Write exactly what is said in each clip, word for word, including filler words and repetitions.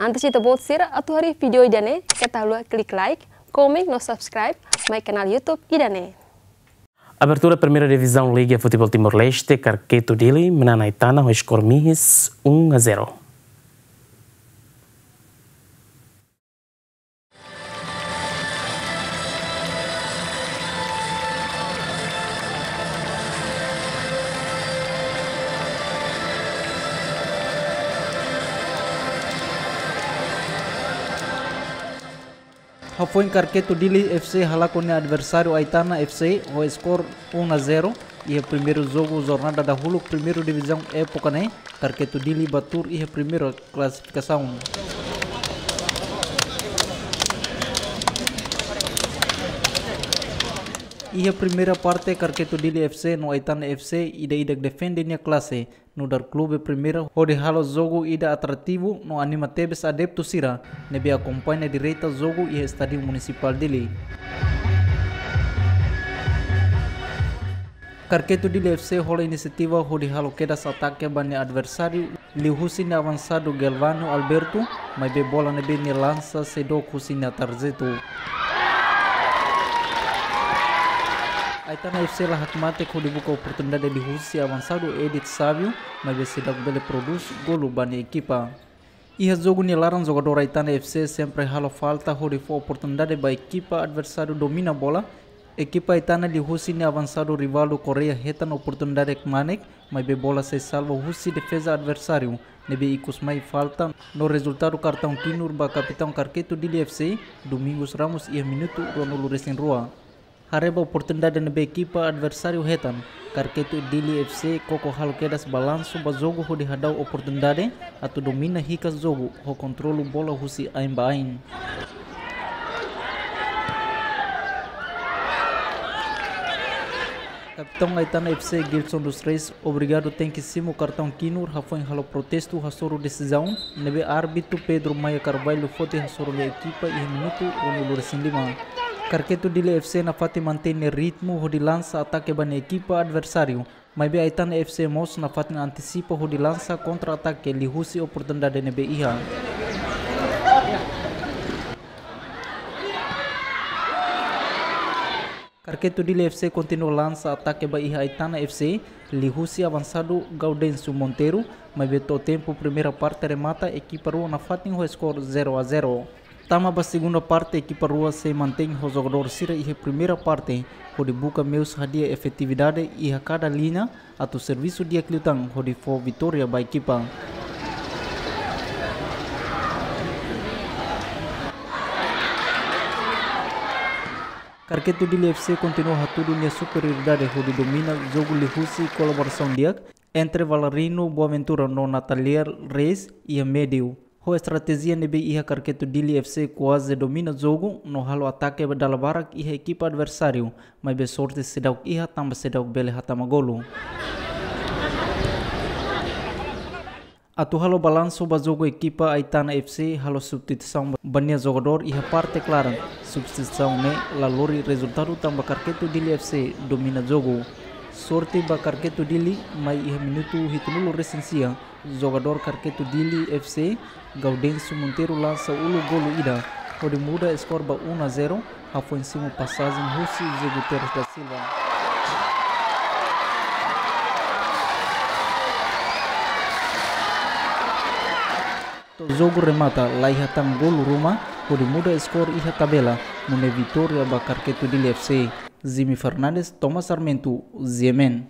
Antes ita-boot sira atu haree vídeo ida-ne'e, keta haluha klik like, komen no subscribe mai kanál YouTube ida-ne'e. Abertura Primeira Divisão Liga Futebol Timor-Leste, Karketu Dili manán Aitana ho skor mihis um a zero. Hafoin Karketu Dili F C halakon nia adversáriu Aitana F C ho skor um a zero iha primeiru jogu jornada dahuluk Primeira Divizaun époka ne'e, Karketu Dili bá tuur iha primeira klasifikasaun. Iha primeira parte, Karketu Dili F C no Aitana F C ida-idak defende nia klase, nu'udar klube primeira hodi halo jogu ida atrativu no anima tebes adeptu sira ne'ebé akompaña direta jogu iha Estádiu Munisipál Dili. Karketu Dili F C hola inisiativa hodi halo kedas atake ba nia adversáriu, liuhusi nia avansadu Gelvano Alberto, maibé bola ne'ebé nia lansa seidook husi nia tarjetu. Aitana F C la hakmatek hodi buka oportunidade liuhusi avansadu Edith Savio, maibé seidauk bele prodús golu ba nia ekipa. Iha jogu nia laran, jogadór Aitana F C sempre halo falta hodi fó oportunidade ba ekipa adversáriu domina bola. Ekipa Aitana liuhusi nia avansadu Rivaldo Correia hetan oportunidade kmanek, maibé bola sei salva husi defeza adversáriu ne'ebé ikus mai falta no rezultadu kartaun kinur ba kapitaun Karketu Dili F C, Domingos Ramos, iha minutu ruanulu-resin-rua. Haree ba oportunidade ne'ebé ekipa adversáriu hetan, Karketu Dili F C koko halo kedas balansu ba jogu hodi hadau oportunidade atu domina hikas jogu ho kontrolu bola husi ain ba ain. Kapitaun Aitana F C, Gilson dos Reis, obrigadu tenke simu kartaun kinur hafoin halo protestu hasoru desizaun ne'ebé árbitru Pedro Maia Carvalho foti hasoru nia ekipa iha minutu ruanulu-resin-lima. Karketu Dili F C nafatin mantein ritmu hodi lansa atake ba nia ekipa adversáriu, maibé Aitana F C mós nafatin antisipa hodi lansa kontra-atake liuhusi oportunidade ne'ebé iha. Karketu Dili F C kontinua lansa atake ba iha Aitana F C, liuhusi avansadu Gaudêncio Monteiro, maibé to'o tempu primeira parte remata, ekipa rua nafatin ho skor zero a zero. Tama ba segunda parte, ekipa rua sei mantein ho jogadór sira iha primeira parte, hodi buka meius hadi'a efetividade iha kada liña, atu servisu di'ak liután hodi fó vitória ba ekipa. Karketu Dili F C kontinua hatudu nia superioridade hodi domina jogu liuhusi kolaborasaun di'ak entre Valerino Boaventura no Natalier Reis iha médiu. Ho estratéjia ne'ebé iha, Karketu Dili F C kuaze domina jogu no halo atake ba dala barak iha ekipa adversáriu, maibé sorte seidauk iha tanba seidauk bele hatama golu. Atu halo balansu ba jogu, ekipa Aitana F C halo substituisaun ba nia jogadór iha parte klaran. Substituisaun ne'e la lori rezultadu tanba Karketu Dili F C domina jogu. Sorte ba Karketu Dili, mai iha minutu hitunulu-resin-sia, jogadór Karketu Dili F C, Gaudêncio Monteiro, lansa uluk golu ida hodi muda skor ba um a zero, hafoin simu pasajen husi José Guterres da Silva. To'o jogu remata, la iha tan golu ruma hodi muda skor iha tabela, nune'e vitória ba Karketu Dili F C. Jimmy Fernandes, Thomas Sarmento, G M N.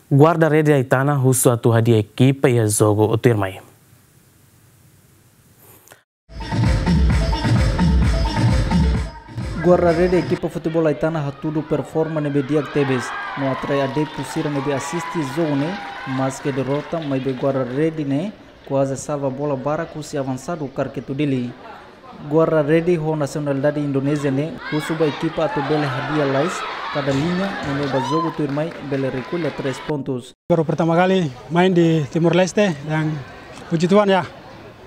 Guarda-rede Aitana husu atu hadi'a ekipa iha jogu tuirmai. Guarda-rede ekipa futeból Aitana hatudu performa ne'ebé di'ak tebes, no atrai adeptu sira ne'ebé asiste jogu ne'e, maske derrota, maibé guarda-rede ne'e kuaze salva bola barak husi avansadu Karketu Dili. Guarda-rede ho nasionalidade Indonézia ne'e husu ba ekipa atu bele hadi'a lais kada liña, nune'e ba jogu tuirmai bele rekolla três pontus. Baru pertama kali main di Timor Leste, dan puji Tuhan ya,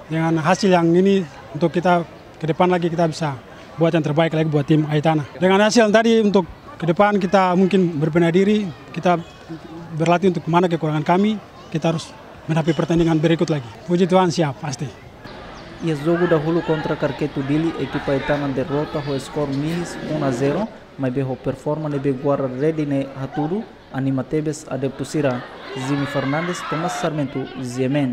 dengan hasil yang ini untuk kita ke depan lagi kita bisa buat yang terbaik lagi buat tim Aitana. Dengan hasil tadi untuk ke depan kita mungkin berbenah diri, kita berlatih untuk mana kekurangan kami, kita harus Menghadapi pertandingan berikut lagi. Puji Tuhan, siap pasti. Iha jogu dahuluk kontra Karketu Dili, ekipa Etana derrota ho skor mihis um a zero, maibé ho performa ne'ebé guarda rede ne'e hatudu, anima tebes adeptu sira. Jimmy Fernandes, Thomas Sarmento, G M N.